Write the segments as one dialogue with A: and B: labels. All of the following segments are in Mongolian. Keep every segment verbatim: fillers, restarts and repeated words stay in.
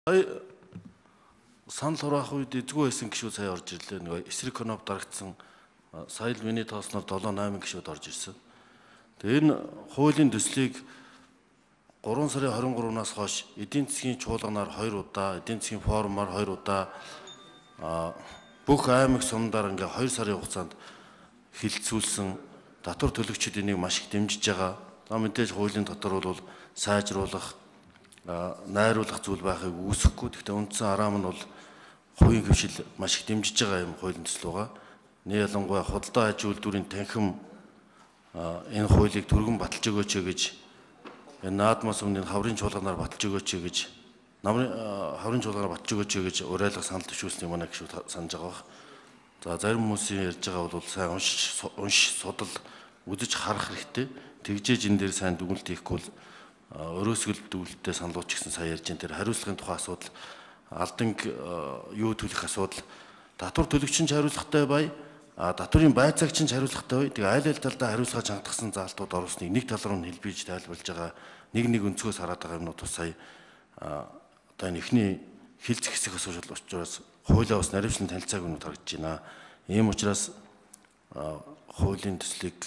A: Санал хураах үед эзгүй байсан гişүүд сая орж ирлээ. Нэг эсрэг коноп дарагдсан сая л миний тоосноор долоо найман гişүүд орж ирсэн. Тэгээ энэ хуулийн төслийг гурван сарын хорин гуравнаас хойш эдийн засгийн чуулганаар хоёр удаа, эдийн засгийн форумаар хоёр удаа бүх аймаг сумдаар ингээ хоёр сарын хугацаанд хилцүүлсэн татвар төлөгчид энийг маш их дэмжиж байгаа. За мэдээж хуулийн дотор бол сайжруулах, найруулах зүйл байхыг үүсэхгүй. Гэхдээ үндсэн араам нь бол хувийн хвшил маш их дэмжиж байгаа юм хуулийн төсөл байгаа. Нэг ялангуяа худалдаа аж үйлдвэрийн танхим энэ хуулийг түргэн баталж өгөөч гэж энэ наадмаас өмнө хаврын чуулганаар баталж өгөөч гэж намрын хаврын чуулганаар баталж өгөөч гэж уриалга санал төвшүүлсэн юм аа гэж санаж байгаа. За зарим хүмүүсийн ярьж байгаа бол сайн уншиж уншиж судал үзэж харах хэрэгтэй. Тэгжээж энэ дээр сайн дүгнэлт хийхгүй бол өрөөсгөл дүгнэлттэй саналууч гэсэн сая ярьж энэ дээр хариуцлагын тухай асуудал, алдан юу төлөх асуудал, татвар төлөгчин ч хариуцлагатай бай, татврын байцаагч нь хариуцлагатай бай. Тэгээ айл айл талдаа хариуцлага хангалтсан заалтууд оруулсныг нэг тал руу хэлбэж тайлбарлаж байгаа нэг нэг өнцгөөс хараад байгаа юмнууд бас сая одоо энэ ихний хилж хэсэг асуудал учраас хуулиа бас наривчлан танилцааг нь харагдаж байна. Ийм учраас хуулийн төслийг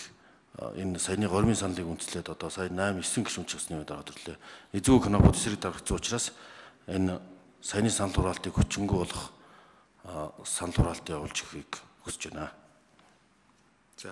A: энэ саяны гормын саналыг үндэслээд одоо сая найман девять гишүүн ч усны дараа төрлөө. Эзгүй конопод эсрэг дарагдсан учраас энэ саяны санал хураалтыг хүчингү болох санал хураалт явуулж өгөхийг хүсэж байна.
B: За